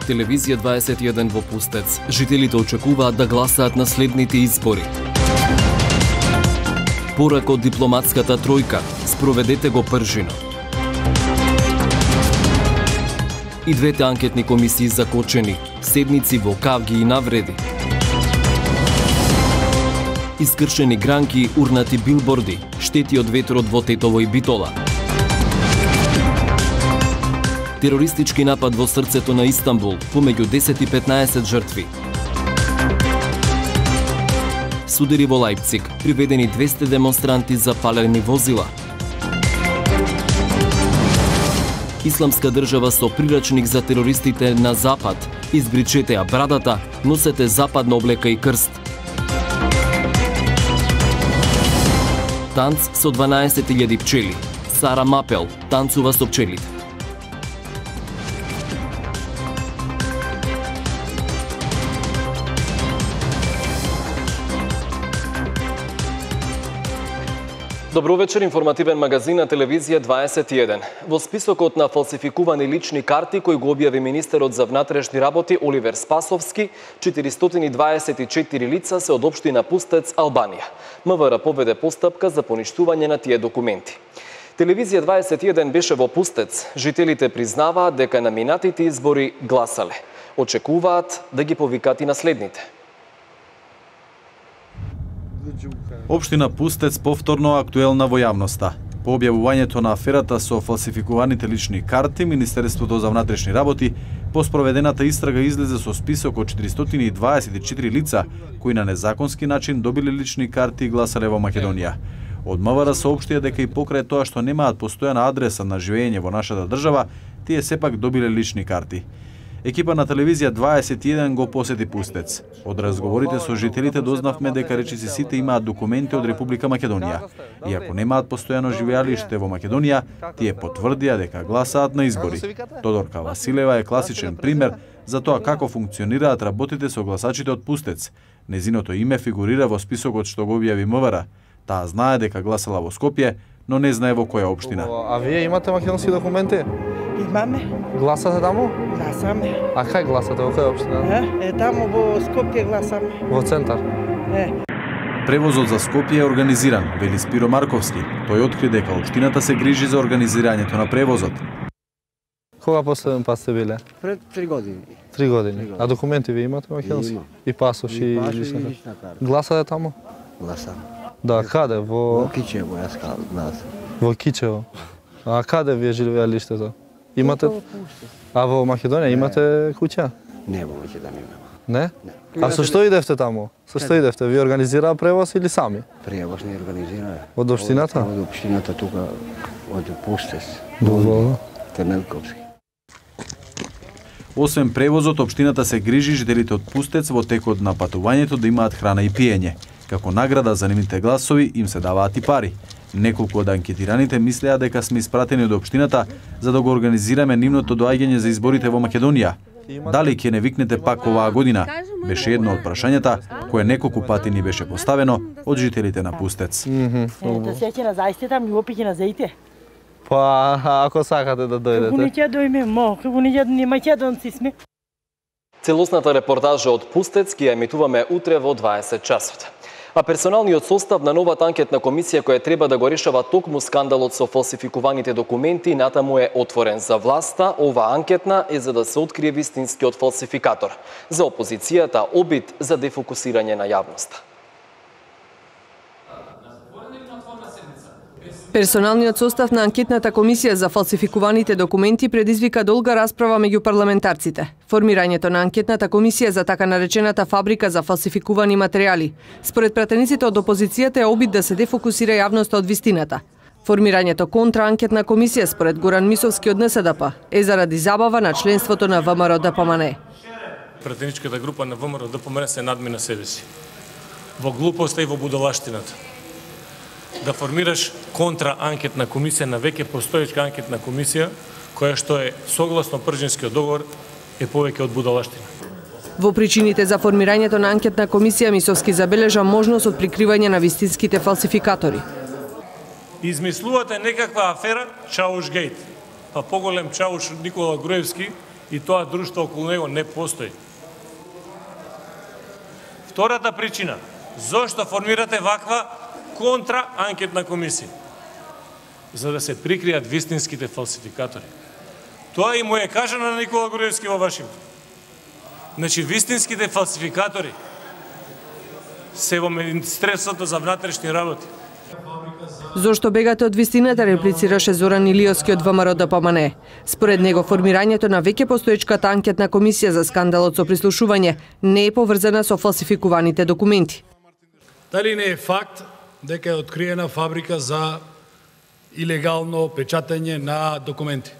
Телевизија 21 во Пустец. Жителите очекуваат да гласаат на следните избори. Порак од дипломатската тројка. Спроведете го пржино. И двете анкетни комисии закочени. Седници во кавги и навреди. Искршени гранки, урнати билборди, штети од ветрот во Тетово и Битола. Терористички напад во срцето на Истанбул, помеѓу 10 и 15 жртви. Судери во Лајпциг, приведени 200 демонстранти за палени возила. Исламска држава со прирачник за терористите на Запад. Избричете ја брадата, носете западна облека и крст. Танц со 12.000 пчели. Сара Мапел танцува со пчелите. Добро вечер, информативен магазин на телевизија 21. Во списокот на фалсификувани лични карти кој го објави министерот за внатрешни работи Оливер Спасовски, 424 лица се од општина Пустец, Албанија. МВР поведе постапка за поништување на тие документи. Телевизија 21 беше во Пустец. Жителите признаваат дека на минатите избори гласале. Очекуваат да ги повикат и наследните. Општина Пустец повторно актуелна во јавноста. По објавувањето на аферата со фалсификуваните лични карти, Министерството за внатрешни работи по спроведената истрага излезе со список од 424 лица кои на незаконски начин добиле лични карти и гласале во Македонија. Од МВР соопштија дека и покрај тоа што немаат постојана адреса на живење во нашата држава, тие сепак добиле лични карти. Екипа на телевизија 21 го посети Пустец. Од разговорите со жителите дознавме дека речиси сите имаат документи од Република Македонија. И ако немаат постојано живеалиште во Македонија, тие потврдија дека гласаат на избори. Тодорка Василева е класичен пример за тоа како функционираат работите со гласачите од Пустец. Незиното име фигурира во списокот што го објави МВР. Таа знае дека гласала во Скопје, но не знае во која општина. А вие имате македонски документи? Имаме. Гласате таму? Гласаме. А кај гласате, во која општина? Таму во Скопје гласаме. Во центар? Превозот за Скопје е организиран, вели Спиро Марковски. Тој откри дека општината се грижи за организирањето на превозот. Кога последен пат сте биле? Пред 3 години. 3 години. А документи ви имате македонски? Имам. И пасош и лична карта. Гласате таму? Гласам. Да, каде? Во Кичево, јас гласам. Во Кичево. А каде ви е живеалиштето? Имате? А во Македонија имате куќа? Не, во Македонија нема. Не? А со што идевте таму? Со што идевте? Ви организираа превоз или сами? Превоз не организираа. Од општината? Од општината тука, од Пустец. Во Темелковски. Освен превозот, општината се грижи жителите од Пустец во текот на патувањето да имаат храна и пиење. Како награда за нивните гласови им се даваат и пари. Неколку од анкетираните мислеа дека сме испратени од општината за да го организираме нивното доаѓање за изборите во Македонија. Дали ќе не викнете пак оваа година? Беше едно од прашањата кое неколку пати ни беше поставено од жителите на Пустец. Да сеќе на заисте там ни опиќе на заите. Па, ако сакате да дојдете. Како не ќе дојме, како не македонци сме. Целосната репортажа од Пустец ќе емитуваме утре во 20 часот. А персоналниот состав на новата анкетна комисија која треба да го решава токму скандалот со фалсификуваните документи натаму е отворен за власта. Ова анкетна е за да се открие вистинскиот фалсификатор. За опозицијата обид за дефокусирање на јавноста. Персоналниот состав на анкетната комисија за фалсификуваните документи предизвика долга расправа меѓу парламентарците. Формирањето на анкетната комисија за така наречената фабрика за фалсификувани материјали, според пратениците од опозицијата, е обид да се дефокусира јавноста од вистината. Формирањето контраанкетна комисија, според Горан Мисовски од НСДП, е заради забава на членството на ВМРО-ДПМН. Пратеничката група на ВМРО-ДПМН се надмина себе си. Во глупоста и во будалаштината. Да формираш контраанкетна комисија на веќе постоечка анкетна комисија, која што е согласно Пржинскиот договор, е повеќе од будалаштина. Во причините за формирањето на анкетна комисија Мисовски забележа можност од прикривање на вистинските фалсификатори. Измислувате некаква афера Чауш Гейт. Па поголем чауш од Никола Груевски и тоа друштво околу него не постои. Втората причина, зошто формирате ваква контраанкетна комисија? За да се прикријат вистинските фалсификатори. Тоа и му е кажано на Никола Груевски во Вашингтон. Значи, вистинските фалсификатори се во Министерството за внатрешни работи. Зошто бегате од вистината, реплицираше Зоран Илиовски од ВМРО ДПМНЕ. Според него, формирањето на веќе постоечката анкетна комисија за скандалот со прислушување не е поврзана со фалсификуваните документи. Дали не е факт дека е откриена фабрика за илегално печатање на документи?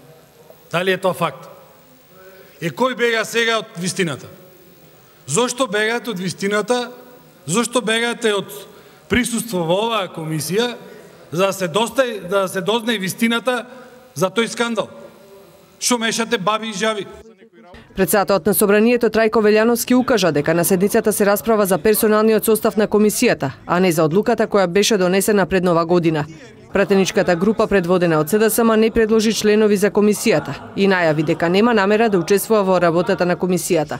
Дали е тоа факт? Е, кој бега сега од вистината? Зошто бегате од вистината? Зошто бегате од присуство во оваа комисија за да се дозна вистината за тој скандал? Шо мешате баби и жаби? Председателот на Собранието Трајко Велјановски укажа дека на седницата се расправа за персоналниот состав на комисијата, а не за одлуката која беше донесена пред нова година. Пратеничката група предводена од СДСМ не предложи членови за комисијата и најави дека нема намера да учествува во работата на комисијата.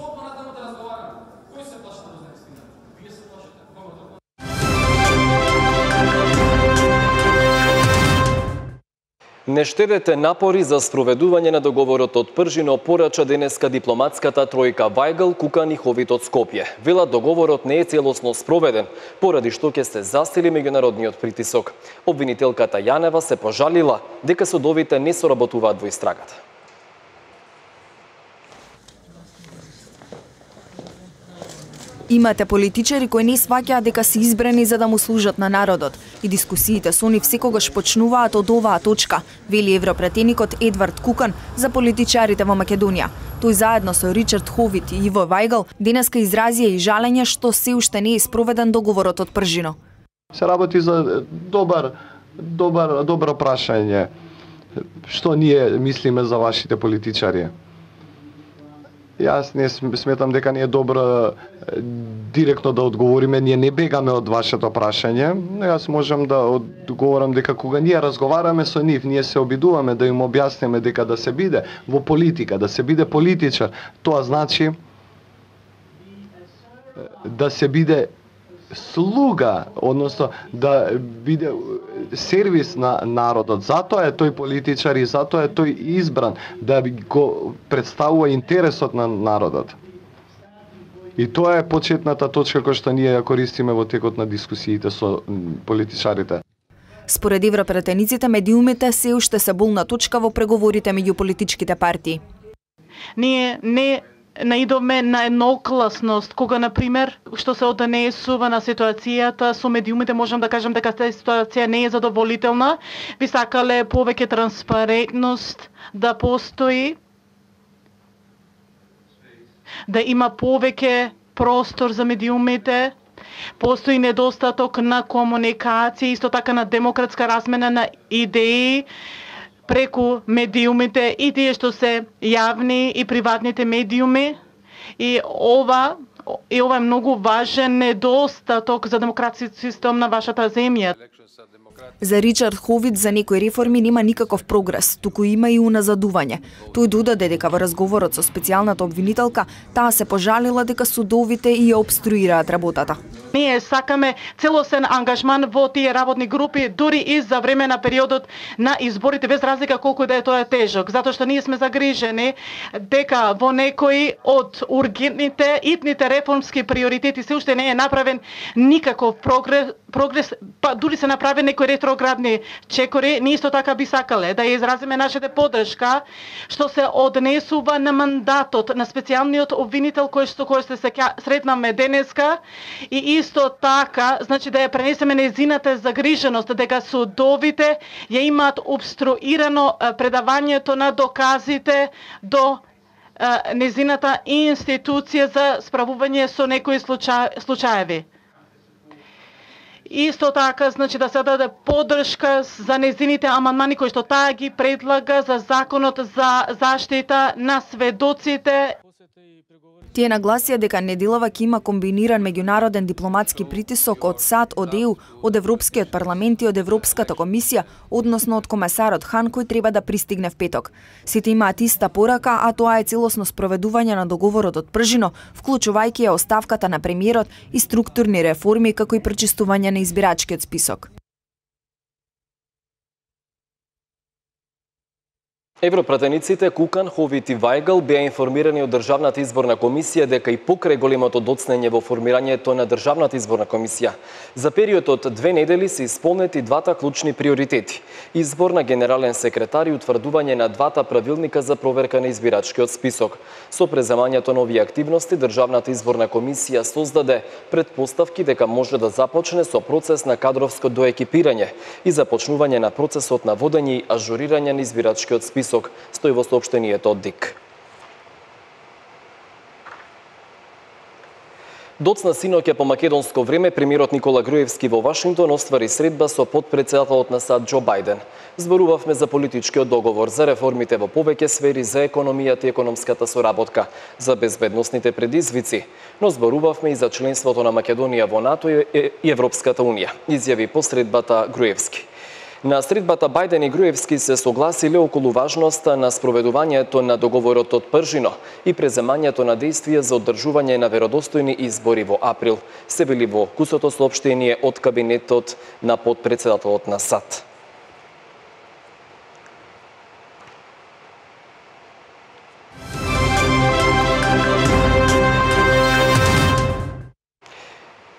Не штедете напори за спроведување на договорот од Пржино, порача денеска дипломатската тројка Вајгл, Кукан и Ховит од Скопје. Велат договорот не е целосно спроведен, поради што ќе се засили меѓународниот притисок. Обвинителката Јанева се пожалила дека судовите не соработуваат во истрагата. Имате политичари кои не сваќаат дека се избрани за да му служат на народот и дискусиите со нив секогаш почнуваат од оваа точка, вели европратеникот Едвард Кукан за политичарите во Македонија. Тој заедно со Ричард Ховит и Иво Вајгл денеска изразија и жалење што се уште не е спроведен договорот од Пржино. Се работи за добро прашање. Што ние мислиме за вашите политичари? Јас не сметам дека не е добро директно да одговориме, ние не бегаме од вашето прашање, но јас можам да одговорам дека кога ние разговараме со нив, ние се обидуваме да им објасниме дека да се биде во политика, да се биде политичар, тоа значи да се биде слуга, односно да биде сервис на народот. Затоа е тој политичар и затоа е тој избран, да го представува интересот на народот. И тоа е почетната точка која што ние ја користиме во текот на дискусиите со политичарите. Според европратениците, медиумите се уште се болна точка во преговорите меѓу политичките партии. Ние не наидовме на еднокласност, кога, например, што се однесува на ситуацијата со медиумите, можам да кажам дека тази ситуација не е задоволителна. Би сакале повеќе транспарентност да постои, да има повеќе простор за медиумите, постои недостаток на комуникација, исто така на демократска размена на идеи преку медиумите и тие што се јавни и приватните медиуми. И ова е многу важен недостаток за демократски систем на вашата земја. За Ричард Ховит за некои реформи нема никаков прогрес, туку има и уназадување. Тој додаде дека во разговорот со специјалната обвинителка, таа се пожалила дека судовите и ја обструираат работата. Ние сакаме целосен ангажман во тие работни групи, дури и за време на периодот на изборите, без разлика колку да е тоа тежок, затоа што ние сме загрижени дека во некои од ургентните итните реформски приоритети се уште не е направен никаков прогрес, па дури се направи некои ретроградни чекори. Ние исто така би сакале да ја изразиме нашата поддршка што се однесува на мандатот на специјалниот обвинител кој се сретнаме денеска, и исто така, значи да ја пренесеме нејзината загриженост дека судовите ја имаат обструирано предавањето на доказите до нејзината институција за справување со некои случаеви. Исто така, значи да се даде поддршка за нејзините амандмани кои што таа ги предлага за законот за заштита на сведоците. Тие нагласија дека неделава ќе има комбиниран меѓународен дипломатски притисок од САД, од ЕУ, од Европскиот парламент и од Европската комисија, односно од комесарот Хан кој треба да пристигне в петок. Сите имаат иста порака, а тоа е целосно спроведување на договорот од пржино, вклучувајќи ја оставката на премиерот и структурни реформи како и пречистување на избирачкиот список. Европратениците Кукан, Ховит и Вајгл беа информирани од Државната изборна комисија дека и покрај големото доцнење во формирањето на Државната изборна комисија, за периодот од 2 недели се исполнети двата клучни приоритети: избор на генерален секретар и утврдување на двата правилника за проверка на избирачкиот список. Со преземањето на овие активности, Државната изборна комисија создаде претпоставки дека може да започне со процес на кадровско доекипирање и започнување на процесот на водење и ажурирање на избирачкиот список, стои во соопштението од ДИК. Доцна синоќа по македонско време премиерот Никола Груевски во Вашингтон оствари средба со потпредседателот на САД Џо Бајден. Зборувавме за политичкиот договор, за реформите во повеќе сфери, за економијата и економската соработка, за безбедносните предизвици, но зборувавме и за членството на Македонија во НАТО и Европската унија, изјави по средбата Груевски. На средбата Бајден и Груевски се согласиле околу важноста на спроведувањето на договорот од пржино и преземањето на действија за одржување на веродостојни избори во април, се вели во кусото соопштение од кабинетот на потпредседателот на САД.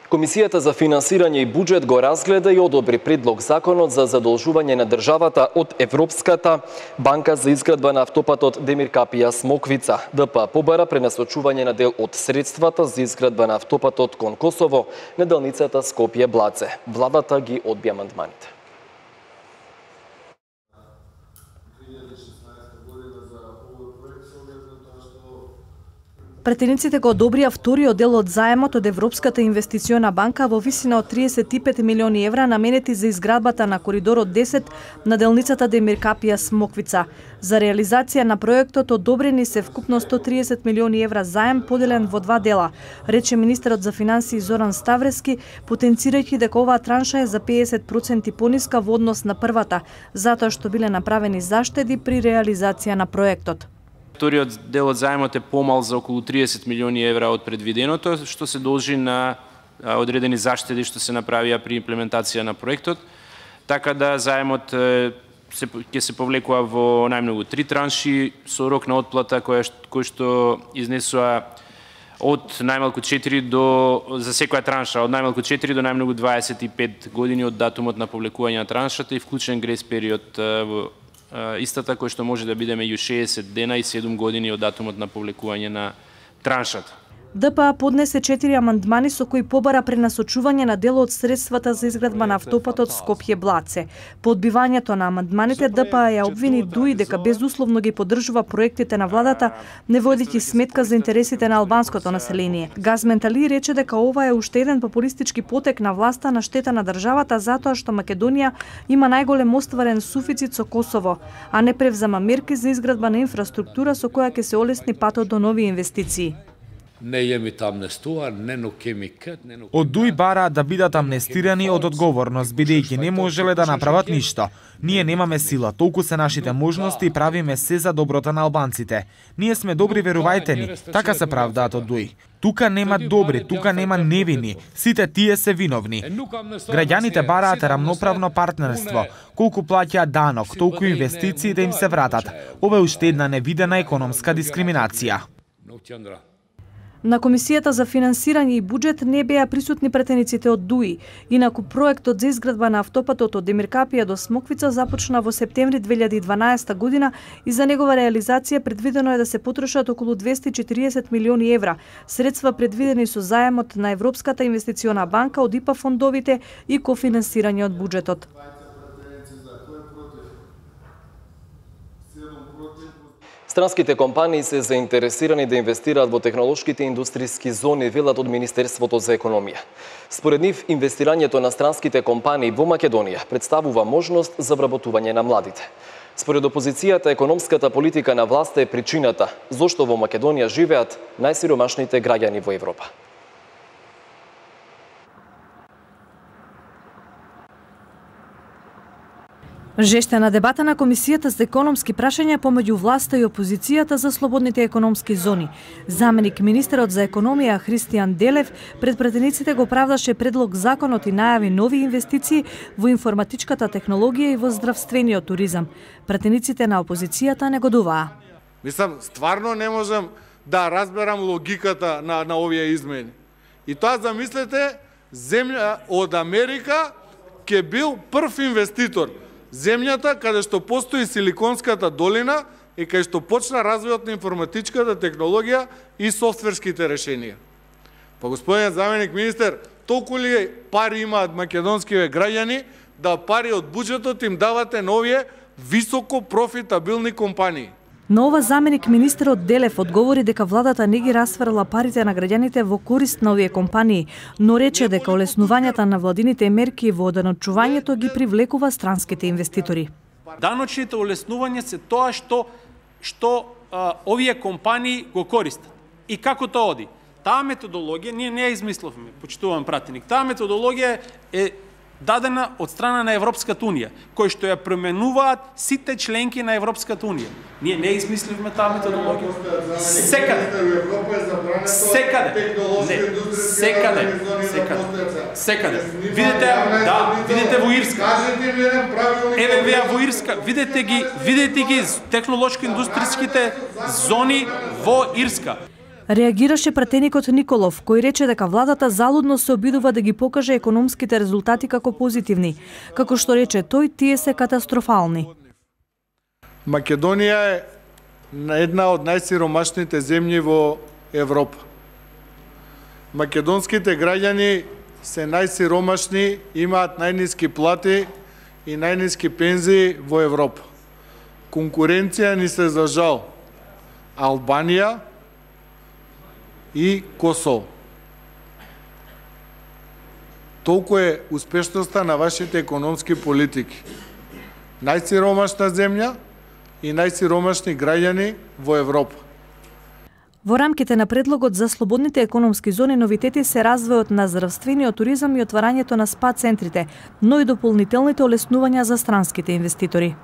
Комисијата за финансирање и буџет го разгледа и одобри предлог законот за задолжување на државата од Европската банка за изградба на автопатот Демир Капија Смоквица. ДП побара пренасочување на дел од средствата за изградба на автопатот кон Косово на делницата Скопје Блаце. Владата ги одби амандманите. Претениците го одобрија вториот дел од заемот од Европската инвестициона банка во висина од 35 милиони евра наменети за изградбата на коридорот 10 на делницата Демир Капија Смоквица. За реализација на проектот одобрени се вкупно 130 милиони евра заем поделен во два дела, рече министерот за финансии Зоран Ставрески, потенцирајќи дека оваа транша е за 50% пониска во однос на првата, затоа што биле направени заштеди при реализација на проектот. Вториот дел од заемот е помал за околу 30 милиони евра од предвиденото, што се должи на одредени заштеди што се направија при имплементација на проектот. Така да заемот ќе се повлекува во најмногу 3 транши со рок на отплата кој што изнесува од најмалку 4 за секоја транша, од најмалку 4 до најмногу 25 години од датумот на повлекување на траншата и вклучен грейс период во истата кој што може да биде меѓу 60 дена и 7 години од датумот на повлекување на траншата. ДПА поднесе 4 амандмани со кои побара пренасочување на дел од средствата за изградба на автопатот Скопје Блаце. По одбивањето на амандманите ДПА ја обвини ДУИ дека безусловно ги поддржува проектите на владата, не водејќи сметка за интересите на албанското население. Газмент Али рече дека ова е уште еден популистички потек на власта на штета на државата затоа што Македонија има најголем остварен суфицит со Косово, а не превзема мерки за изградба на инфраструктура со која ќе се олесни патот до нови инвестиции. Од ДУИ бараат да бидат амнестирани од одговорност, бидејќи не можеле да направат ништо. Ние немаме сила, толку се нашите можности и правиме се за доброто на албанците. Ние сме добри, верувајте ни, така се правдаат од ДУИ. Тука нема добри, тука нема невини, сите тие се виновни. Граѓаните бараат рамноправно партнерство, колку плаќаат данок, толку инвестиции да им се вратат. Ова е уште една невидена економска дискриминација. На Комисијата за финансирање и буџет не беа присутни претениците од ДУИ, инаку проектот за изградба на автопатот од Демир Капија до Смоквица започна во септември 2012 година и за негова реализација предвидено е да се потрошат околу 240 милиони евра, средства предвидени со заемот на Европската инвестициона банка од ИПА фондовите и кофинансирање од буџетот. Странските компании се заинтересирани да инвестираат во технолошките индустријски зони, велат од Министерството за економија. Според нив, инвестирањето на странските компании во Македонија представува можност за вработување на младите. Според опозицијата, економската политика на власта е причината зошто во Македонија живеат најсиромашните граѓани во Европа. Жештена дебата на Комисијата за економски прашања помеѓу власта и опозицијата за слободните економски зони. Заменик министерот за економија Христијан Делев пред пратениците го правдаше предлог законот и најави нови инвестиции во информатичката технологија и во здравствениот туризам. Пратениците на опозицијата негодуваа. Мислам, стварно не можам да разберам логиката на овие измени. И тоа замислете, земја од Америка ќе бил прв инвеститор. Земјата каде што постои Силиконската долина и каде што почна развојот на информатичката технологија и софтверските решенија. Па господин заменик министер, толку ли пари имаат македонскиве граѓани да пари од буџетот им давате на овие високо профитабилни компании? На ова заменик министерот Делев одговори дека владата не ги расфрла парите на граѓаните во корист на овие компании, но рече дека олеснувањата на владините мерки во даночувањето ги привлекува странските инвеститори. Даночните олеснувања се тоа што овие компании го користат. И како тоа оди? Таа методологија ние не ја измисловме, почитувам пратеник. Таа методологија е дадена од страна на Европската унија, кој што ја променуваат сите членки на Европската унија. Ние не измисливме таа методологија. Секаде. Видете во Ирска. Еве веа во Ирска, видете ги технолошко-индустријските зони во Ирска. Реагираше пратеникот Николов, кој рече дека владата залудно се обидува да ги покаже економските резултати како позитивни. Како што рече тој, тие се катастрофални. Македонија е една од најсиромашните земји во Европа. Македонските граѓани се најсиромашни, имаат најниски плати и најниски пензии во Европа. Конкуренција ни се за жал Албанија и Косово. Толку е успешноста на вашите економски политики. Најсиромашна земја и најсиромашни граѓани во Европа. Во рамките на предлогот за слободните економски зони новитети се развојот на здравствениот туризам и отварањето на спа центрите, но и дополнителните олеснувања за странските инвеститори.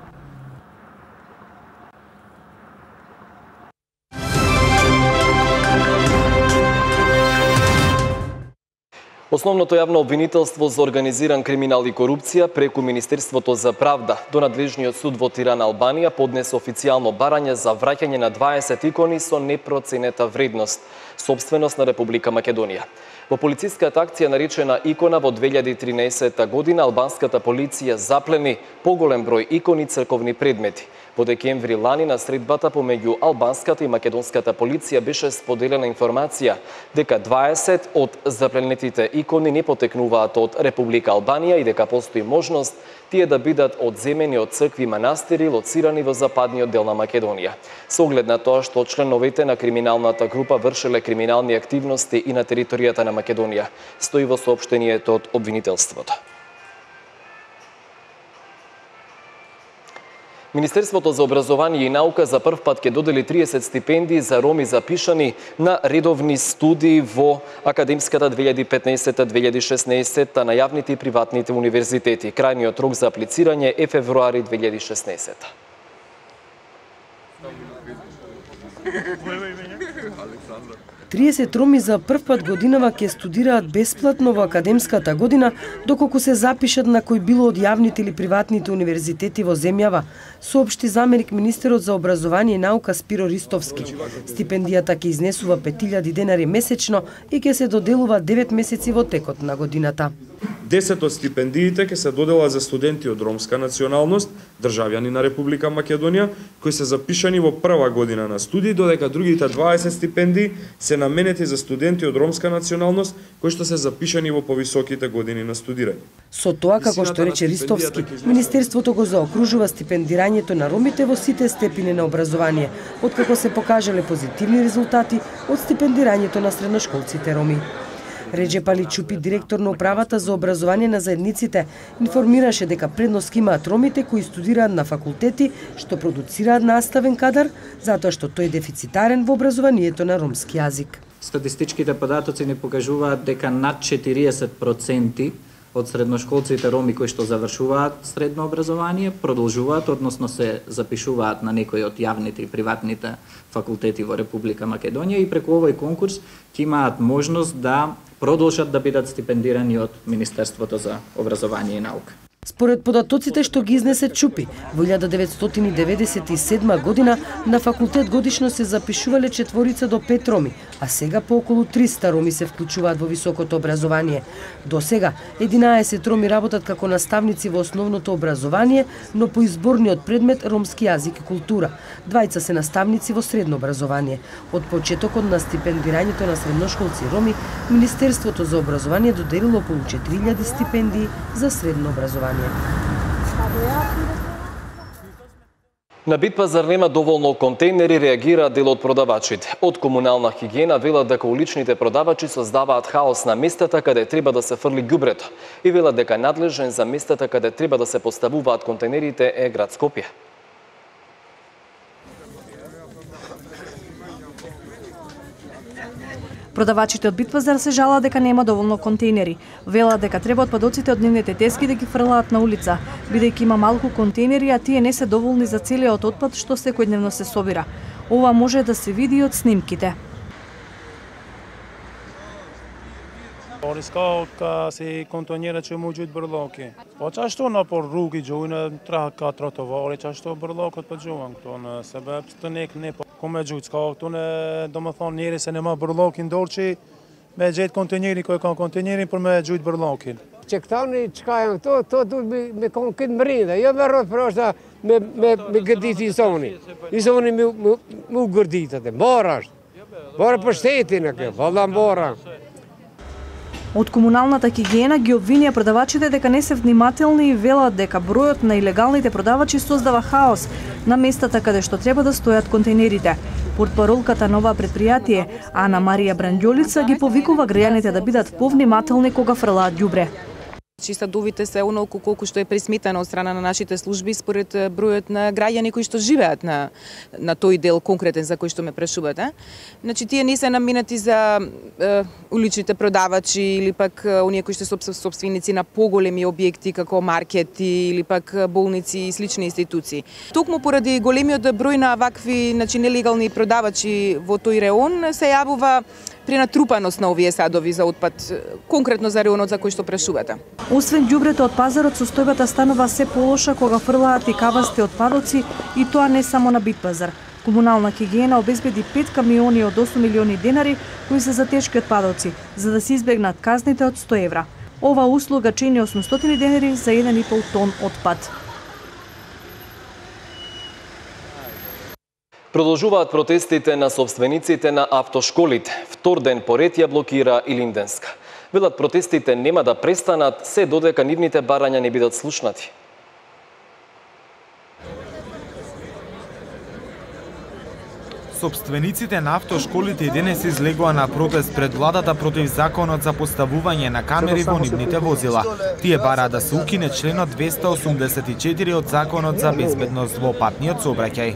Основното јавно обвинителство за организиран криминал и корупција преку Министерството за правда до надлежниот суд во Тирана, Албанија, поднесе официјално барање за враќање на 20 икони со непроценета вредност, собственост на Република Македонија. Во полициската акција наречена Икона во 2013 година, албанската полиција заплени поголем број икони и црковни предмети. Во декември лани на средбата помеѓу албанската и македонската полиција беше споделена информација дека 20 од запленетите икони не потекнуваат од Република Албанија и дека постои можност тие да бидат одземени од цркви и манастири лоцирани во западниот дел на Македонија. Со оглед на тоа што членовите на криминалната група вршеле криминални активности и на територијата на Македонија, стои во соопштението од обвинителството. Министерството за образование и наука за прв пат ќе додели 30 стипендии за роми запишани на редовни студии во академската 2015-2016 на јавните и приватните универзитети. Крајниот рок за аплицирање е февруари 2016. 30 роми за прв пат годинава ќе студираат бесплатно во академската година, доколку се запишат на кој било од јавните или приватните универзитети во земјава, соопшти заменик министерот за образование и наука Спиро Ристовски. Стипендијата ќе изнесува 5000 денари месечно и ќе се доделува 9 месеци во текот на годината. 10 од стипендиите ќе се доделат за студенти од ромска националност, државјани на Република Македонија, кои се запишани во прва година на студии, додека другите 20 стипендии се наменети за студенти од ромска националност, кои што се запишани во повисоките години на студирање. Со тоа, како што рече Ристовски, Министерството го заокружува стипендирањето на ромите во сите степени на образование, откако се покажале позитивни резултати од стипендирањето на средношколците роми. Реджеп Али Чупи, директор на управата за образование на заедниците, информираше дека предност имаат ромите кои студираат на факултети што продуцираат наставен кадар, затоа што тој е дефицитарен во образованието на ромски јазик. Статистичките податоци ни покажуваат дека над 40% од средношколците роми кои што завршуваат средно образование продолжуваат, односно се запишуваат на некои од јавните и приватните факултети во Република Македонија и преку овој конкурс ќе имаат можност да продолжат да бидат стипендирани од Министерството за образование и наука. Според податоците што ги изнесе Чупи, во 1997 година на факултет годишно се запишувале 4 до 5 роми, а сега по околу 300 роми се вклучуваат во високото образование. До сега 11 роми работат како наставници во основното образование, но по изборниот предмет ромски јазик и култура. Двајца се наставници во средно образование. Од почетокот на стипендирањето на средношколци роми, Министерството за образование доделило околу 4000 стипендии за средно образование. На Битпазар нема доволно контейнери, реагира дел од продавачите. Од комунална хигиена велат дека уличните продавачи создаваат хаос на местата каде треба да се фрли ѓубрето и велат дека надлежен за местата каде треба да се поставуваат контейнерите е град Скопје. Продавачите од Битпазар се жалаат дека нема доволно контейнери. Велат дека треба отпадоците од нивните тески да ги фрлаат на улица, бидејќи има малку контейнери, а тие не се доволни за целиот отпад што секојдневно се собира. Ова може да се види од снимките. Riska se kontonjera që mu gjytë bërloki. Po qashtu në por rrugi gjujnë 3-4 trotovari, qashtu bërlokët për gjuën këto në sebeb të nek ne po ku me gjujtë. Ska këtu në do më thonë njeri se në ma bërlokin dorë që me gjetë kontenjeri ko e ka kontenjerin për me gjujtë bërlokin. Që këta një qka janë këto, to duhet me konë këtë mërinde, jo me rrët për është me gërdit i zoni. I zoni mu gërdit atë, mbara është. Mbara për shtetin e kjo, valla mbara. Од комуналната хигиена ги обвинија продавачите дека не се внимателни и велат дека бројот на илегалните продавачи создава хаос на местата каде што треба да стојат контейнерите. Портпаролката на ова предпријатие, Ана Марија Бранѓолица, ги повикува граѓаните да бидат повнимателни кога фрлаат ѓубре. Ставовите се онолку колку што е пресметано од страна на нашите служби според бројот на граѓани кои што живеат на тој дел конкретен за кој што ме прашувате. Значи тие не се наменати за уличните продавачи или пак оние кои што се сопственици на поголеми објекти како маркети или пак болници и слични институции. Токму поради големиот број на вакви нелегални продавачи во тој реон се јавува пренатрупаност на овие садови за отпад, конкретно за реонот за кој што прашувате. Освен ѓубрето од пазарот, состојбата станува се полоша кога фрлаат и кавасти отпадоци, и тоа не само на Битпазар. Комунална хигиена обезбеди 5 камиони од 8 милиони денари кои се за тешки отпадоци, за да се избегнат казните од 100 евра. Ова услуга чини 800 денари за 1,5 тон отпад. Продолжуваат протестите на собствениците на автошколите. Втор ден поред ја блокира и Линденска. Велат протестите нема да престанат се додека нивните барања не бидат слушнати. Собствениците на автошколите и денес излегоа на протест пред владата против законот за поставување на камери во нивните возила. Тие бараат да се укине членот 284 од законот за безбедност во патниот сообраќај.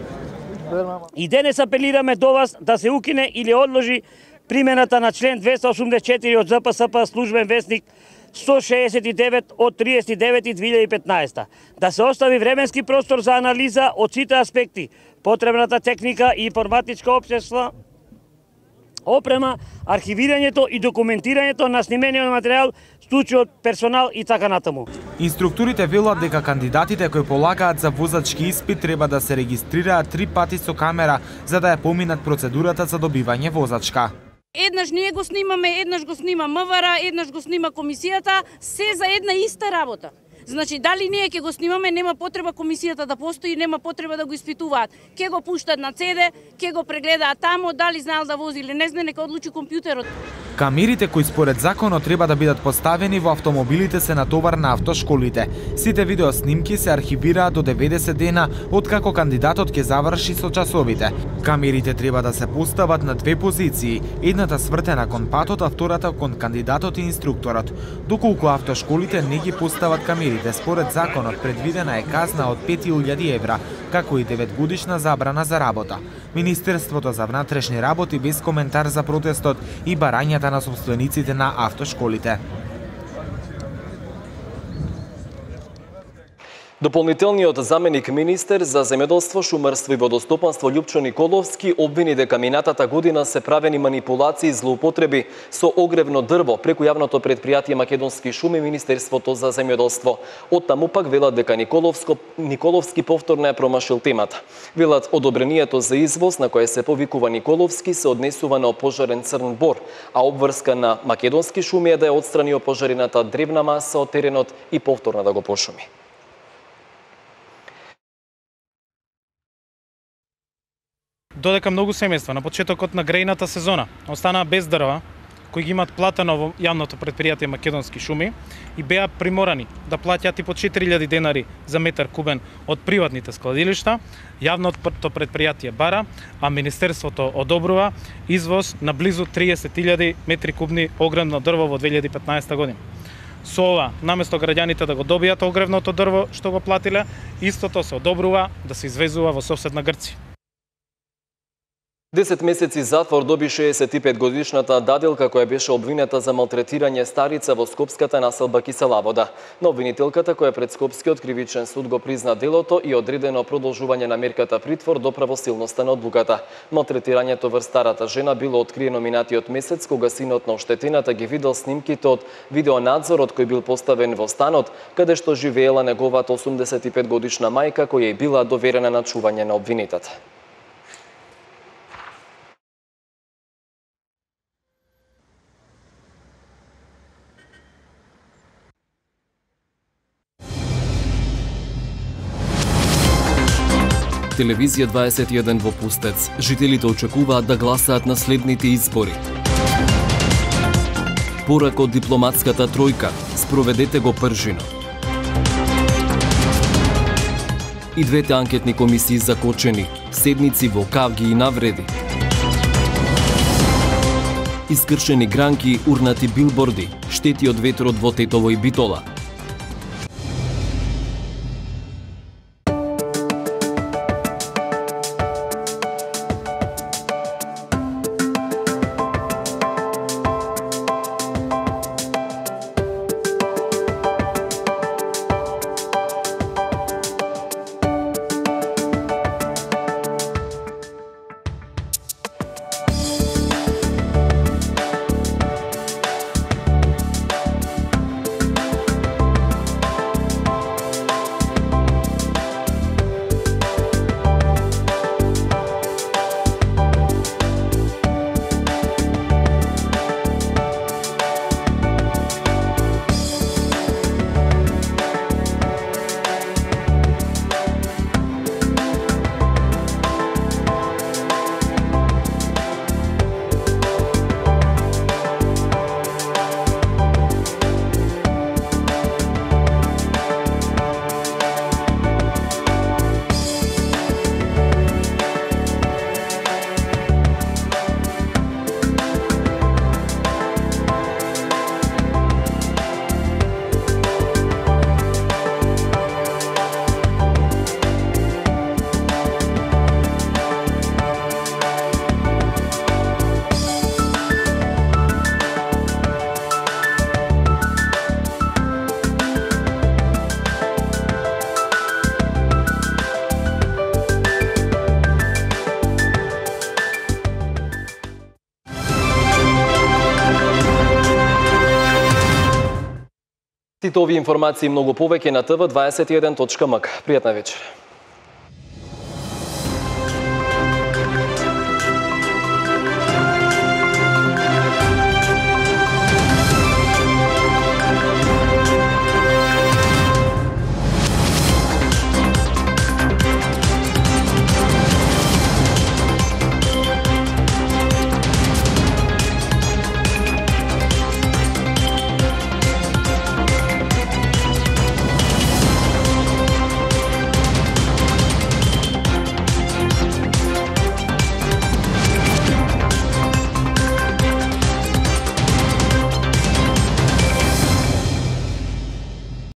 И денес апелираме до вас да се укине или одложи примената на член 284 од ЗПСП службен весник 169 од 39.2015. Да се остави временски простор за анализа од сите аспекти, потребната техника и информатичка општества, опрема, архивирањето и документирањето на снимениот материјал, случајот, персонал и така натаму. Инструкторите велат дека кандидатите кои полагаат за возачки испит треба да се регистрираат 3 пати со камера за да ја поминат процедурата за добивање возачка. Еднаш ние го снимаме, еднаш го снима МВР, еднаш го снима комисијата, се за една иста работа. Значи, дали ние ќе го снимаме, нема потреба комисијата да постои, нема потреба да го испитуваат. Ке го пуштат на CD, ке го прегледаат тамо, дали знаел да вози или не знае, нека одлучи компјутерот. Камерите кои според законот треба да бидат поставени во автомобилите се натовар на автошколите. Сите видеоснимки се архивираат до 90 дена откако кандидатот ќе заврши со часовите. Камерите треба да се постават на две позиции, едната свртена кон патот, а втората кон кандидатот и инструкторот. Доколку автошколите не ги постават камерите, според законот предвидена е казна од 5.000 евра, како и 9-годишна забрана за работа. Министерството за внатрешни работи без коментар за протестот и барањата на собствениците на автошколите. Дополнителниот заменик министер за земјоделство, шумарство и водостопанство Љупчо Николовски обвини дека минатата година се правени манипулации и злоупотреби со огревно дрво преку јавното предпријатие Македонски шуми и Министерството за земјоделство. Оттаму пак велат дека Николовски повторно ја промашил темата. Велат одобрението за извоз на кое се повикува Николовски се однесува на опожарен црн бор, а обврска на Македонски шуми е да ја отстрани опожарената древна маса од теренот и повторно да го пошуми. Додека многу семејства на почетокот на грејната сезона останаа без дрва, кои ги имаат платено во јавното предпријатие Македонски шуми и беа приморани да плаќаат и по 4.000 денари за метар кубен од приватните складилишта, јавното предпријатие бара, а Министерството одобрува извоз на близу 30.000 метри кубни огревно дрво во 2015 година. Со ова, наместо граѓаните да го добијат огревното дрво што го платиле, истото се одобрува да се извезува во соседна Грција. 10 месеци затвор доби 65-годишната даделка која беше обвинета за малтретирање старица во скопската населба Киселавода. Но обвинителката која пред Скопскиот кривичен суд го призна делото и одредено продолжување на мерката притвор до правосилноста на одлуката. Малтретирањето врз старата жена било откриено минатиот месец кога синот на оштетената ги видел снимките од видеонадзорот кој бил поставен во станот каде што живеела неговата 85-годишна мајка која е била доверена на чување на обвинетата. Телевизија 21 во Пустец. Жителите очекуваат да гласаат на следните избори. Порак од дипломатската тројка. Спроведете го пржино. И двете анкетни комисии закочени. Седници во кавги и навреди. Искршени гранки, урнати билборди. Штети од ветрот во Тетово и Битола. Сите овие информации и многу повеќе на tv21.mk. Пријатна вечер.